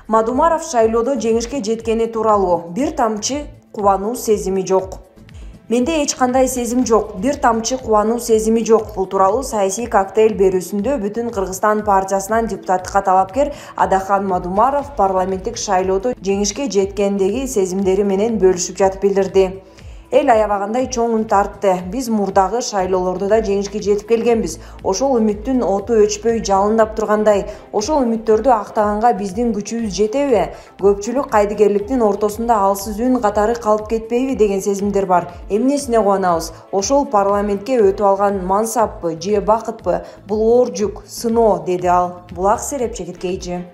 Мадумаров шайлоодо жеңишке жеткени тууралуу бир тамчы кубануу сезими жок. Менде эч кандай сезим жок, бир тамчы кубануу сезими жок. Бул тууралуу саясий коктейль берүүсүндө Бүтүн Кыргызстан партиясынан депутаттыкка талапкер Адахан Мадумаров парламенттик шайлоодо жеңишке жеткендеги сезимдери менен бөлүшүп жатып билдирди. Эл аябагандай чоң үн тартты. Биз мурдагы шайлоолордо да жеңишке жетип келгенбиз. Ошол үмүттүн оту өчпөй жалындап тургандай, ошол үмүттөрдү актаганга биздин күчүбүз жетеби? Көпчүлүк кайдыгерликтин ортосунда алсыз үн катары калып кетпейби деген сезимдер бар. Эмнесине кубанабыз? Ошол парламентке өтүп алган мансаппы же бакытпы? Бул оор жүк, сыноо, деди ал. Булак серепчи кеткейчи.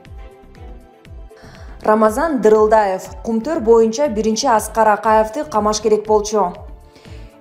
Рамазан Дырылдаев Кумтөр боюнча биринчи Аскар Акаевди камаш керек болчу.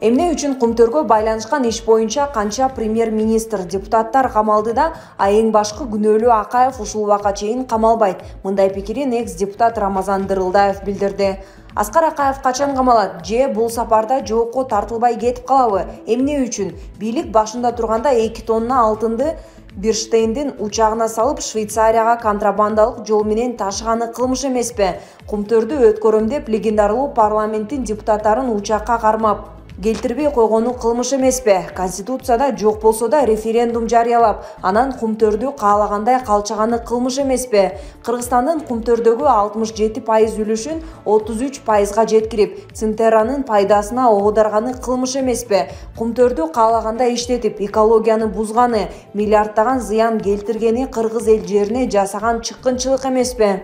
Эмне үчүн Кумтөргө байланышкан иш боюнча канча премьер-министр, депутаттар камалды да, а эң башкы күнөөлүү Акаев ушул убакка чейин камалбайт. Мындай пикирин экс-депутат Рамазан Дырылдаев билдирди. Аскар Акаев качан камалат? Же бул сапарда жоопко тартылбай кетип калабы? Эмне үчүн? Бийлик башында турганда 2 тонна алтынды Бирштейндин учагына салып Швейцарияга контрабандалык жол менен ташыганы кылмыш эмеспи? Кумтөрдү өткөрөм деп легендарлуу парламенттин депутаттарын учакка кармап келтирбей койгону кылмыш эмеспи? Конституцияда жок болсо да референдум жарыялап, анан Кумтөрдү каалагандай калчаганы кылмыш эмеспи? Кыргызстандын Кумтөрдөгү 67% үлүшүн 33%га жеткирип, Цинтерранын пайдасына оодарганы кылмыш эмеспи? Кумтөрдү каалагандай иштетип, экологияны бузганы, миллиарддаган зыян келтиргени кыргыз эл жерине жасаган чыккынчылык эмеспи?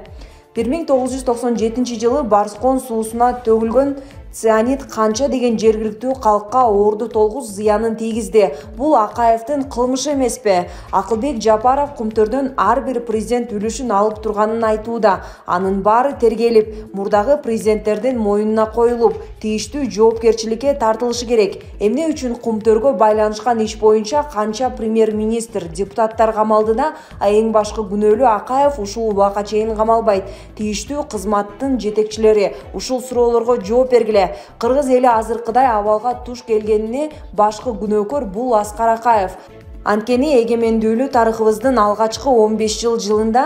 1997 жылы Барскон суусуна төгүлгөн цианид канча деген жергиликтүү калкка оорду толгуз зыянын тийгизди. Бул Акаевдин кылмышы эмеспи? Акылбек Жапаров Кумтөрдөн ар бир президент үлүшүн алып турганын айтууда. Анын баары тергелип, мурдагы президенттердин мойнуна коюлуп, тийиштүү жоопкерчиликке тартылышы керек. Эмне үчүн Кумтөргө байланышкан иш боюнча канча премьер-министр, депутаттар камалды да, а эң башкы күнөөлүү Акаев ушул убакка чейин камалбайт? Тийиштүү кызматтын жетекчилери ушул суроолорго жооп бергиле. Кыргыз эли азыркыдай абалга туш келгенине башкы күнөөкөр бул Аскар Акаев. Анткени эгемендүүлүү тарыхыбыздын алгачкы 15 жылында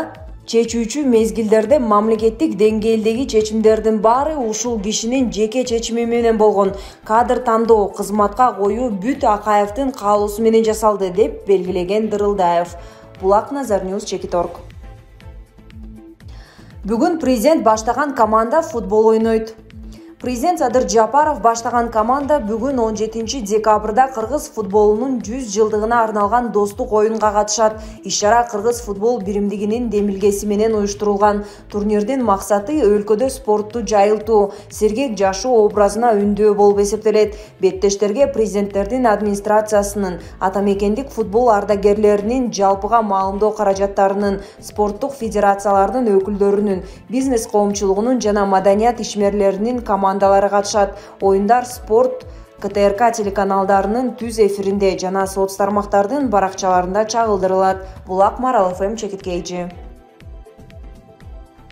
чечүүчү мезгилдерде мамлекеттик деңгээлдеги чечимдердин баары ушул кишинин жеке чечими менен болгон. Кадр тандоо, кызматка коюу бүт Акаевдин каалоосу менен жасалды, деп белгилеген Дырылдаев. Булак Назарньюз, Чекиторг. Бүгүн президент баштаган команда футбол ойнойт. Президент Садыр Жапаров баштаган команда бүгүн 17 декабрда кыргыз футболунун 100 жылдыгына арналган достук оюнга катышат. Иш-чара кыргыз футбол биримдигинин демилгеси менен уюштурулган. Турнирдин максаты өлкөдө спортту жайылтуу, сергек жашоо образына үндөө болуп эсептелет. Беттештерге президенттердин администрациясынын, атамекендик футбол ардагерлеринин, жалпыга маалымдоо каражаттарынын, спорттук федерациялардын өкүлдөрүнүн, бизнес коомчулугунун жана маданият ишмерлеринин командалары катышат. Оюндар спорт КТРК телеканалдарынын түз эфиринде жана соц тармактардын баракчаларында чагылдырылат. Булак Марал ФМ, Чекиткейчи.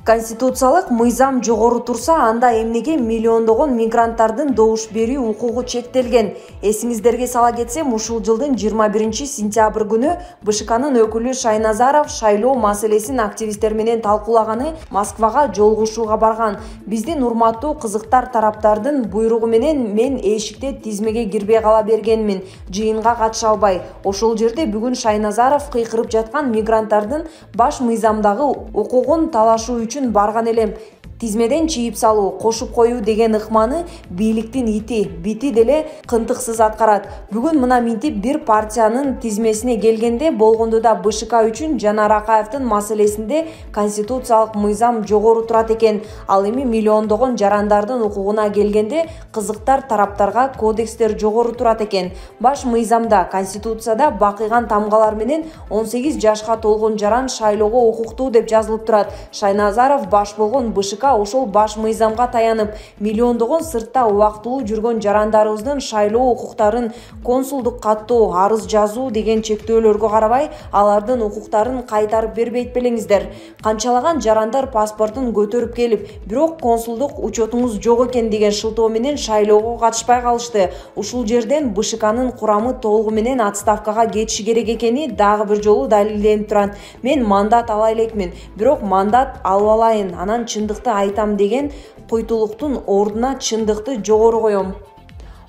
Конституциялык мыйзам жогору турса, анда эмнеге миллиондогон мигранттардын добуш берүү укугу чектелген? Эсиңиздерге сала кетсем, ушул жылдын 21 сентябрь күнү БШКнын өкүлү Шайназаров шайлоо маселесин активисттер менен талкуулаганы Москвага жолугушууга барган. Биздин урматтуу кызыктар тараптардын буйругу менен мен эшикте тизмеге кирбей кала бергенмин, жыйынга катыша албай. Ошол жерде бүгүн Шайназаров кыйкырып жаткан мигранттардын баш мыйзамдагы укугун талашуу үчүн барган элем. Тизмеден чийип салуу, кошуп коюу деген ыкманы бийликтин ити, бити деле кынтыксыз аткарат. Бүгүн мына минтип бир партиянын тизмесине келгенде болгондо да БШК үчүн Жанар Акаевдин маселесинде конституциялык мыйзам жогору турат экен. Ал эми миллиондогон жарандардын укугуна келгенде кызыктар тараптарга кодекстер жогору турат экен. Баш мыйзамда, конституцияда бакыйган тамгалар менен 18 жашка толгон жаран шайлоого укуктуу деп жазылып турат. Шайназаров баш болгон БШК ошол баш мыйзамга таянып, миллиондогон сыртта убактылуу жүргөн жарандарыбыздын шайлоо укуктарын консулдук каттоо, арыз жазуу деген чектөөлөргө карабай, алардын укуктарын кайтарып бербейт белеңиздер. Канчалаган жарандар паспортун көтөрүп келип, бирок консулдук учетуңуз жок экен деген шылтоо менен шайлоого катышпай калышты. Ушул жерден БШКнын курамы толугу менен отставкага кетиши керек экени дагы бир жолу далилденип турат. Мен мандат ала элекмин, бирок мандат алып алайын, анан чындыкты айтам деген куйтулуктун ордуна чындыкты жогору коем.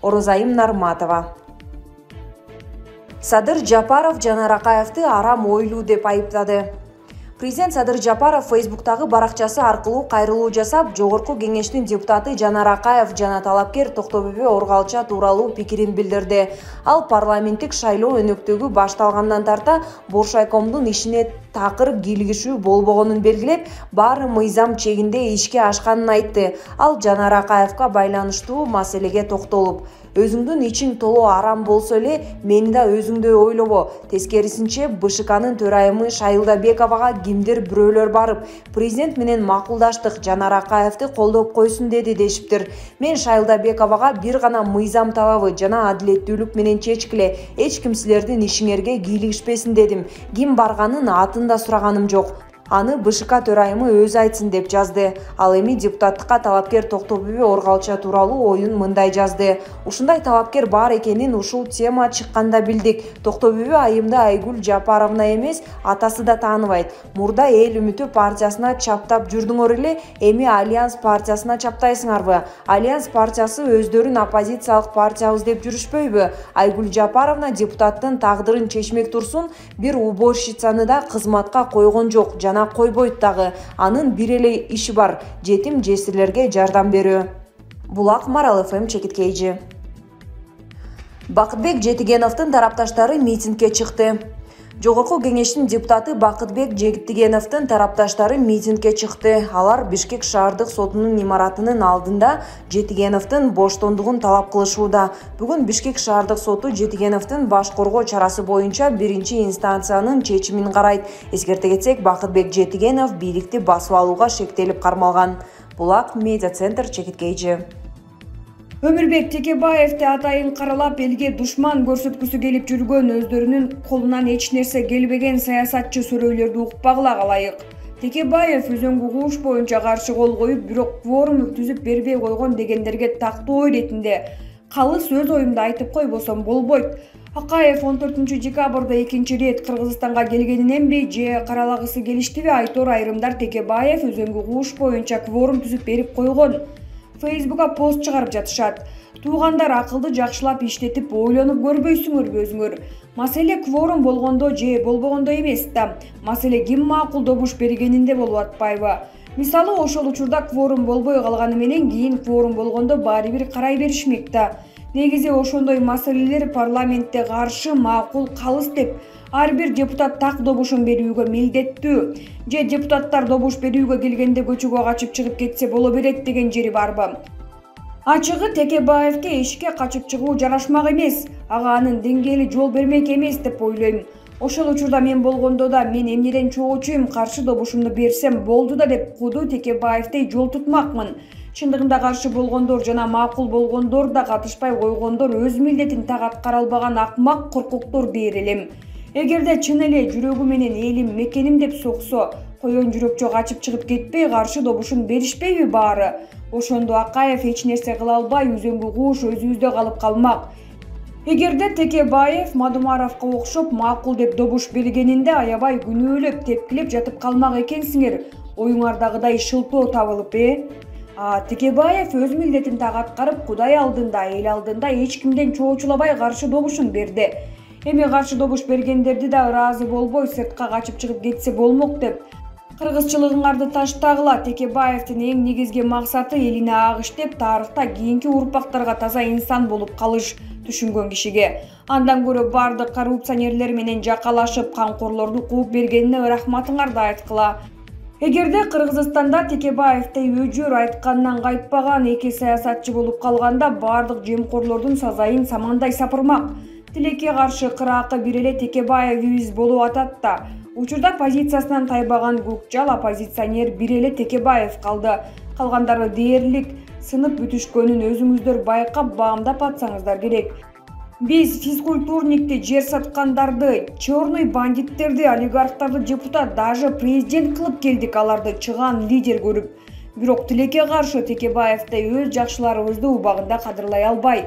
Орозайым Нарматова. Садыр Жапаров Жанар Акаевди арам ойлуу деп айыптады. Президент Садыр Жапаров Фейсбуктагы баракчасы аркылуу кайрылуу жасап, Жогорку кеңештин депутаты Жанар Акаев жана талапкер Токтобөбө Оргалча тууралуу пикирин билдирди. Ал парламенттик шайлоо өнөктөгү башталгандан тарта Боршайкомдун ишине такыр кийлигишүү болбогонун белгилеп, баары мыйзам чегинде ишке ашканын айтты. Ал Жанар Акаевга байланыштуу маселеге токтолуп, өзүңдүн ичиң толуу арам болсо эле, мени да өзүңдөй ойлобо. Тескерисинче, БШКнын төрайымы Шайылдабековага кимдир бирөөлөр барып, президент менен макулдаштык, Жанар Акаевди колдоп койсун деди дешиптир. Мен Шайылдабековага бир гана мыйзам талабы жана адилеттүүлүк менен чечкиле, эч ким силердин ишиңерге кийлигишпесин дедим. Ким барганын атын да сураганым жок. Аны БШК төрайымы өзү айтсын деп жазды. Ал эми депутаттыкка талапкер Токтобөбө Оргалча тууралуу оюн мындай жазды. Ушундай талапкер бар экенин ушул тема чыкканда билдик. Токтобөбө айымды Айгүл Жапаровна эмес, атасы да тааныбайт. Мурда Эл үмүтү партиясына чаптап жүрдүңөр эле, эми Альянс партиясына чаптайсыңарбы? Альянс партиясы өздөрүн оппозициялык партиябыз деп жүрүшпөйбү? Айгүл Жапаровна депутаттын тагдырын чечмек турсун, бир уборщицаны да кызматка койгон жок, жана койбойт дагы. Анын бир эле иши бар: жетим жесирлерге жардам берүү. Булак, Марал ФМ чекиткейжи. Бакытбек Жетигеновдун тарапташтары митингге чыкты. Жогорку кеңештин депутаты Бакытбек Жетигеновдун тарапташтары митингге чыкты. Алар Бишкек шаардык сотунун имаратынын алдында Жетигеновдун боштондугун талап кылышууда. Бүгүн Бишкек шаардык соту Жетигеновдун баш коргоо чарасы боюнча биринчи инстанциянын чечимин карайт. Эскерте кетсек, Бакытбек Жетигенов бийликти басып алууга шектелип кармалган. Булак, медиа центр чекиткейжи. Өмүрбек Текебаевди атайын каралап, элге душман көрсөткүсү келип жүргөн, өздөрүнүн колунан эч нерсе келбеген саясатчы сүрөйлөрдү укпагыла калайык. Текебаев өзөңгү кууш боюнча каршы кол коюп, бирок кворум түзүп бербей койгон дегендерге тактоо иретинде калыс өз оюмду айтып койбосом болбойт. Акаев 14 декабрда экинчи рет Кыргызстанга келгениненби же каралагысы келиштиби айтор айрымдар Текебаев өзөңгү кууш боюнча кворум түзүп берип койгон. Фейсбукка пост чыгарып жатышат. Туугандар, акылды жакшылап иштетип ойлонуп көрбөйсүңөрбү өзүңөр? Маселе кворум болгондо же болбогондо эмес да. Маселе ким макул добуш бергенинде болуп атпайбы? Мисалы, ошол учурда кворум болбой калганы менен кийин кворум болгондо баары бир карай беришмек да. Негизи ошондой маселелер парламентте каршы, макул, калыс деп ар бир депутат так добушун берүүгө милдеттүү. Же депутаттар добуш берүүгө келгенде көчөгө качып чыгып кетсе боло берет деген жери барбы? Ачыгы, Текебаевге ишке качып чыгуу жарашмак эмес, ага анын деңгээли жол бермек эмес деп ойлойм. Ошол учурда мен болгондо да мен эмнеден чоочуйм, каршы добушумду берсем болду да деп куду Текебаевдей жол тутмакмын. Чындыгында каршы болгондор жана макул болгондор да катышпай койгондор өз милдетин так аткара албаган акмак коркоктор дээр элем. Эгерде чын эле жүрөгү менен элим, мекеним деп соксо, коен жүрөкчө качып чыгып кетпей каршы добушун беришпейби баары? Ошондо Акаев эч нерсе кыла албай, өзөңгү кууш өзүбүздө калып калмак. Эгерде Текебаев Мадумаровго окшоп макул деп добуш бергенинде аябай күнөөлөп, тепкилеп жатып калмак экенсиңер, оюңардагыдай шылтоо табылып, Текебаев өз милдетин так аткарып, Кудай алдында, эл алдында эч кимден чоочулабай каршы добушун берди. Эми каршы добуш бергендерди да ыраазы болбой сыртка качып чыгып кетсе болмок деп. Кыргызчылыгыңарды таштагыла. Текебаевдин эң негизги максаты элине ак иштеп, тарыхта кийинки урпактарга таза инсан болуп калыш түшүнгөн кишиге. Андан көрө бардык коррупционерлер менен жакалашып, камкорлорду кууп бергенине рахматыңарды айткыла. Эгерде Кыргызстанда Текебаевдей өжөр айткандан кайтпаган эки саясатчы болуп калганда, бардык жемкорлордун сазайын самандай сапырмак. Тилекке каршы кыракы бир эле Текебаевибиз болуп атат да. Учурда позициясынан тайбаган көкжал оппозиционер бир эле Текебаев калды. калгандары дээрлик сынып бүтүшкөнүн өзүңүздөр байкап баамдап атсаңыздар керек. Биз физкультурникти, жер саткандарды, черный бандиттерди, олигархтарды депутат, даже президент кылып келдик, аларды чыгаан лидер көрүп. Бирок тилекке каршы Текебаевди өз жакшыларыбызды убагында кадырлай албай,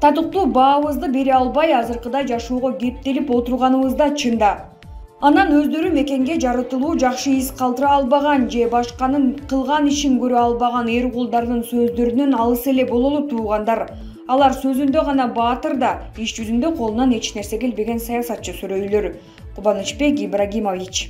татыктуу баабызды бере албай, азыркыдай жашоого кептелип отурганыбызда чында. Анан өздөрү мекенге жарытылуу жакшы из калтыра албаган же башканын кылган ишин көрө албаган эр кулдардын сөздөрүнөн алыс эле бололу туугандар. Алар сөзүндө гана баатыр да, иш жүзүндө колунан эч нерсе келбеген саясатчы сүрөйлөр. Кубанычбек Ибрагимович.